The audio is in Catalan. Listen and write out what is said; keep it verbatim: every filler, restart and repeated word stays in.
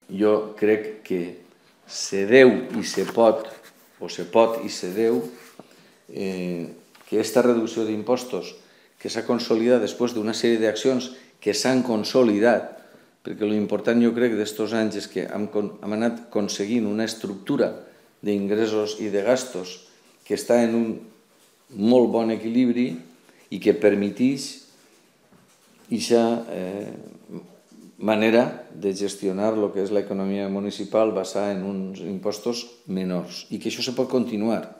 jo crec que se deu i se pot, o se pot i se deu, eh, que aquesta reducció d'impostos que s'ha consolidat després d'una sèrie d'accions que s'han consolidat, perquè l'important jo crec d'estos anys és que hem, hem anat aconseguint una estructura d'ingressos i de gastos que està en un molt bon equilibri i que permeteix aquesta eh, manera de gestionar el que és l'economia municipal basada en uns impostos menors i que això se pot continuar.